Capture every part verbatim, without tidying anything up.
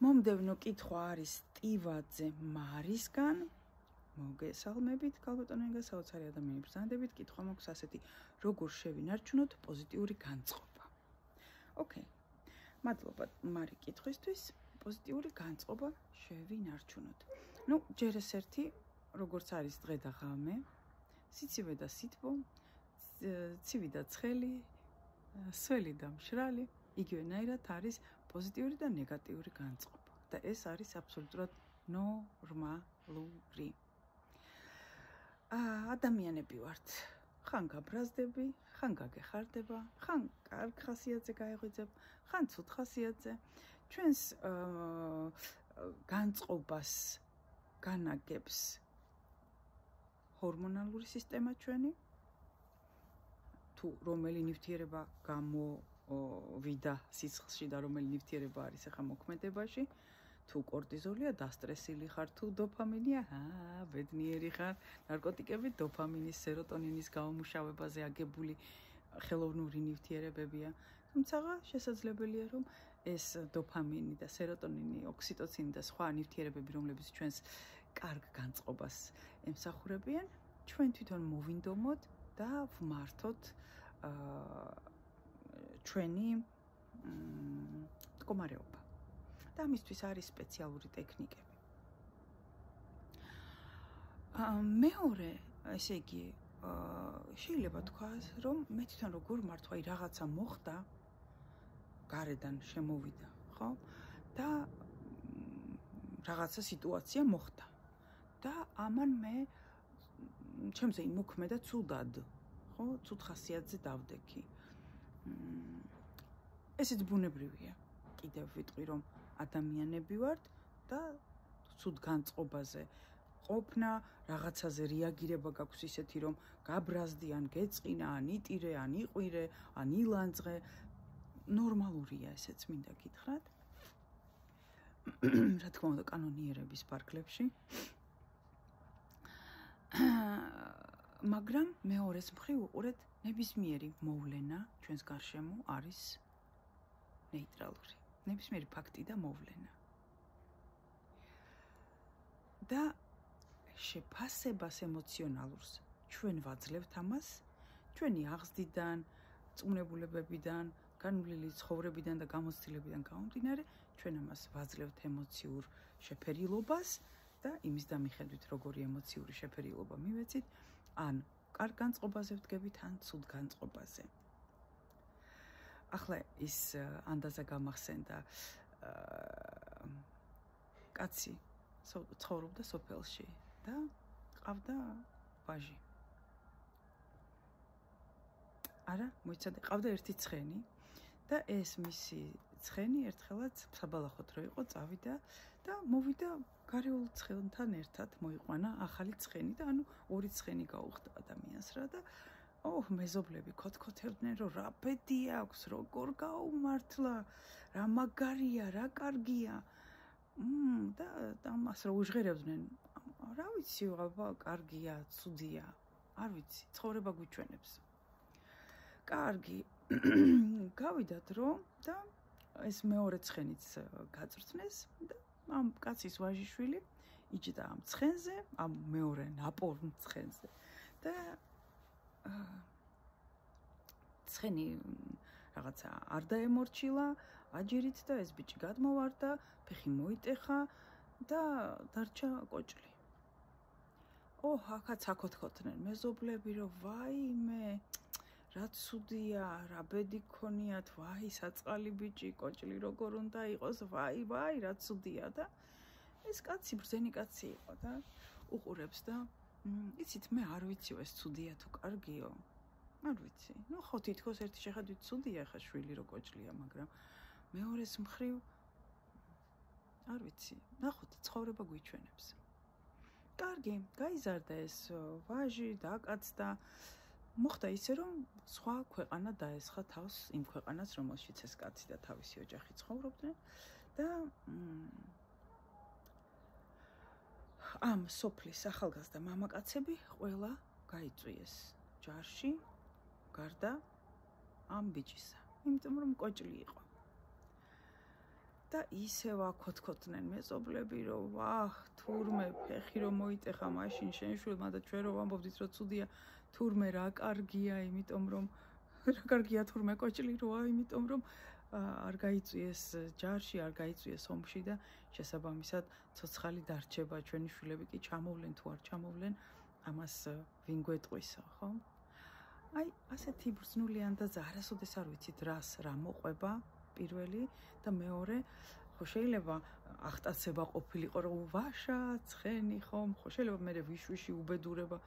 მომდევნო კითხვა არის ტივაძე მარისგან. მოგესალმებით, ქალბატონინგა, საოცარი ადამიანი ბრძანდებით. კითხვა მაქვს ასეთი: როგორ შევინარჩუნოთ პოზიტიური განწყობა? ოკეი. მადლობა მარი კითხვისთვის. პოზიტიური განწყობა შევინარჩუნოთ. ნუ ჯერ ეს ერთი, როგორც არის დღე და ღამე, სიცივე და სითბო, ცივი და ცხელი, სველი და მშრალი, იგივენაირად არის პოზიტიური და ნეგატიური განწყობა. და ეს არის აბსოლუტურად ნორმალური. ადამიანები ვართ. ხან გაბრაზდები, ხან გაგეხარდება, ხან კარგ ხასიათზე გაიღვიძებ, ხან ცუდ ხასიათზე. ჩვენს განწყობას განაგებს ჰორმონალური სისტემა ჩვენი, თუ რომელი ნივთიერება გამოვიდა სისხლში და რომელი ნივთიერება არის ახლა მოქმედებაში, თუ კორტიზოლია, დასტრესილი ხარ, თუ დოფამინია, აა, ბედნიერი ხარ, ნარკოტიკები დოფამინის, სეროტონინის გამომუშავებაზე აგებული ხელოვნური ნივთიერებებია. თუმცა შესაძლებელია, რომ ეს დოფამინი და სეროტონინი, ოქსიტოცინი და სხვა ნივთიერებები, რომლებიც ჩვენს კარგ განწყობას ემსახურებიან, ჩვენ თვითონ მოვინდომოთ და ვმართოთ ჩვენი მდგომარეობა. და ამისთვის არის სპეციალური ტექნიკები. მეორე, ესე იგი, შეიძლება თქვას, რომ მე თვითონ როგორ მართვა, აი რაღაცა მოხდა, გარედან შემოვიდა, ხო? და რაღაცა სიტუაცია მოხდა. და ამან მე ჩემზე იმოქმედა ცუდად, ხო? ცუდ ხასიათზე დავდექი. ესეც ბუნებრივია. კიდევ ვიტყვი, რომ ადამიანები ვართ და ცუდ განწყობაზე ყოფნა, რაღაცაზე რეაგირება გაქვს ისეთი, რომ გაბრაზდი, ან გეწყინა, ან იტირე, ან იყვირე, ან ილანძღე. ნორმალურია ესეც, მინდა გითხრათ. რა თქმა უნდა, კანონიერების ფარგლებში. მაგრამ მეორეს მხრივ უყურეთ, ნებისმიერი მოვლენა ჩვენს გარშემო არის ნეიტრალური. ნებისმიერი ფაქტი და მოვლენა. და შეფასებას ემოციონალურს ჩვენ ვაძლევთ ამას, ჩვენი აღზრდიდან, წუნებულებებიდან, განვლილი ცხოვრებიდან და გამოცდილებიდან გამომდინარე, ჩვენ ამას ვაძლევთ ემოციურ შეფერილობას და იმის დამიხედვით, როგორი ემოციური შეფერილობა მივეცით, ან კარგ განწყობაზე ვდგებით, ან ცუდ განწყობაზე. ახლა ის ანდაზა გამახსენდა კაცი ცხოვრობდა სოფელში და ყავდა ვაჟი. არა, მოიცადე, ყავდა ერთი ცხენი და ეს მისი ცხენი ერთხელაც საბალახოთ რო იყო, წავიდა და მოვიდა გარეული ცხენთან ერთად მოიყვანა ახალი ცხენი და ანუ ორი ცხენი გაუხდა ადამიანს რა და ოჰ, მეზობლები ქოთქოთებდნენ, რომ რა ბედი აქვს, როგორ გაუმართლა, რა მაგარია, რა კარგია. მმ და ამას რა უჟღერებდნენ. რა ვიცი, აბა, კარგია, ცუდია. არ ვიცი, ცხოვრება გვიჩვენებს. კარგი. გავიდათ რომ და ეს მეორე ცხენიც გაწვრთნეს და ამ კაცის ვაჟიშვილი იჯდა ამ ცხენზე, ამ მეორე ნაპოვნ ცხენზე. და ცხენი რაღაცა არ დაემორჩილა აჯერით და ეს ბიჭი გადმოვარდა, ფეხი მოიტეხა და დარჩა კოჭლი. ოჰ, აქაც აკოთქოთნენ მეზობლები, რომ ვაიმე, რა ცუდია, რა ბედი გქონიათ, ვაი, საწყალი ბიჭი, კოჭლი როგორ უნდა იყოს, ვაი, ვაი, რა ცუდია და ეს კაცი ბრძენი კაცი იყო და უყურებს და იცით, მე არ ვიცი, ეს ცუდია თუ კარგიო. არ ვიცი. ნუ ხო თითქოს ერთი შეხედვით ცუდია ხა შვილი რო კოჭლია, მაგრამ მეორეს მხრივ არ ვიცი. ნახოთ, ცხოვრება გვიჩვენებს. კარგი, გაიზარდა ეს ვაჟი, დააკაცდა. მოხდა ისე, რომ სხვა ქვეყანა დაესხა თავს იმ ქვეყანას, რომელშიც ეს კაცი და თავისი ოჯახი ცხოვრობდნენ და ამ სოფლის ახალგაზრდა მამაკაცები ყველა გაიწვიეს ჯარში გარდა ამ ბიჭისა, იმიტომ რომ კოჭლი იყო. და ისევ აკოთქოთნენ მეზობლები, რომ ვაჰ, თურმე ფეხი რომ მოიტეხა მაშინ შენ შვილმა და ჩვენ რომ ვამბობდით, რომ ცუდია, თურმე რა კარგია, იმიტომ რომ რა კარგია თურმე კოჭლი როა, იმიტომ რომ არ გაიწვიეს ჯარში, არ გაიწვიეს ომში და შესაბამისად ცოცხალი დარჩება, ჩვენი შვილები კი ჩამოვლენ თუ არ ჩამოვლენ, ამას ვინ გვეტყვისა, ხო? აი, ასეთი ბრძნულიან და არასოდეს არ ვიცით რას რა მოყვება პირველი და მეორე, ხო შეიძლება აღტაცება ყოფილიყო, რომ ვაშა, ცხენი ხომ, ხო შეიძლება მე ვიშვიში უბედურება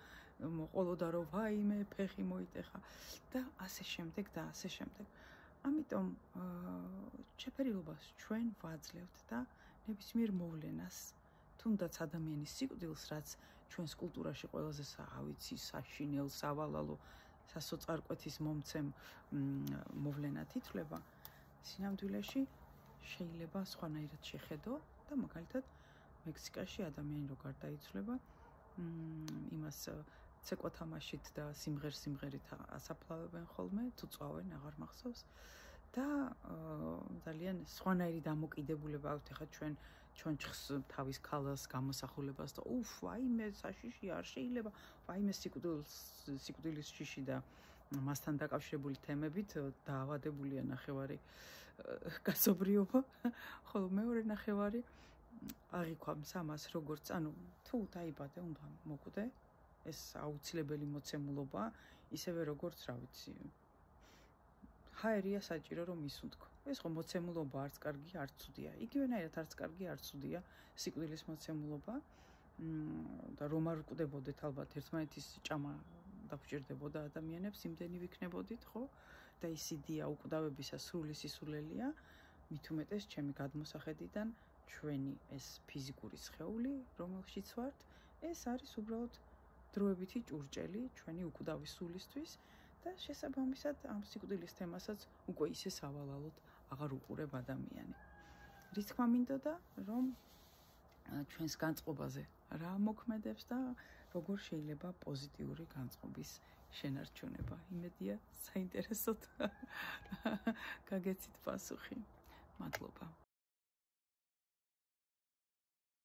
მოყოლოდა, რომ ვაიმე, ფეხი მოიტეხა და ასე შემდეგ და ასე შემდეგ. ამიტომ შეფერილობას ჩვენ ვაძლევთ და ნებისმიერ მოვლენას, თუნდაც ადამიანის სიკვდილს, რაც ჩვენს კულტურაში ყველაზე ავიცი, საშინელ, სავალალო, სასოწარკვეთის მომცემ მოვლენად ითვლება, სინამდვილეში შეიძლება სხვანაირად შეხედო და მაგალითად მექსიკაში ადამიანი რო გარდაიცვლება, იმას ცეკვა თამაშით და სიმღერ-სიმღერით ასაფლავებენ ხოლმე, თუ წვავენ, აღარ მახსოვს და ძალიან სხვანაირი დამოკიდებულება აქვს ახლა ჩვენ ჩონჩხს თავის ქალას გამოსახულებას და უფ, ვაიმე, საშიში არ შეიძლება, ვაიმე სიკვდილს, სიკვდილის შიში და მასთან დაკავშირებული თემებით დაავადებულია ნახევარი კაცობრიობა, ხოლო მეორე ნახევარი აღიქვამს ამას როგორც, ანუ თუ დაიბადე, უნდა მოკვდე, ეს აუცილებელი მოცემულობა, ისევე როგორც, რა ვიცი, ჰაერია საჭირო რომ ისუნთქო. ეს ხო მოცემულობა არც კარგი, არც ცუდია. იგივენაირად არც კარგი, არც ცუდია სიკვდილის მოცემულობა და რომ არ ვკვდებოდეთ ალბათ ერთმანეთის ჭამა დაგვჭირდებოდა ადამიანებს, იმდენი ვიქნებოდით, ხო? და ის იდეა უკვდავებისა სრული სისულელია, მით უმეტეს ჩემი გადმოსახედიდან ჩვენი ეს ფიზიკური სხეული, რომელშიც ვართ, ეს არის უბრალოდ დროებითი ჭურჭელი ჩვენი უკვდავის სულისთვის და შესაბამისად ამ სიკვდილის თემასაც უკვე ისე სავალალოდ აღარ უყურებ ადამიანი. რის თქმა მინდოდა, რომ ჩვენს განწყობაზე რა მოქმედებს და როგორ შეიძლება პოზიტიური განწყობის შენარჩუნება. იმედია საინტერესოდ გაგეცით პასუხი. მადლობა.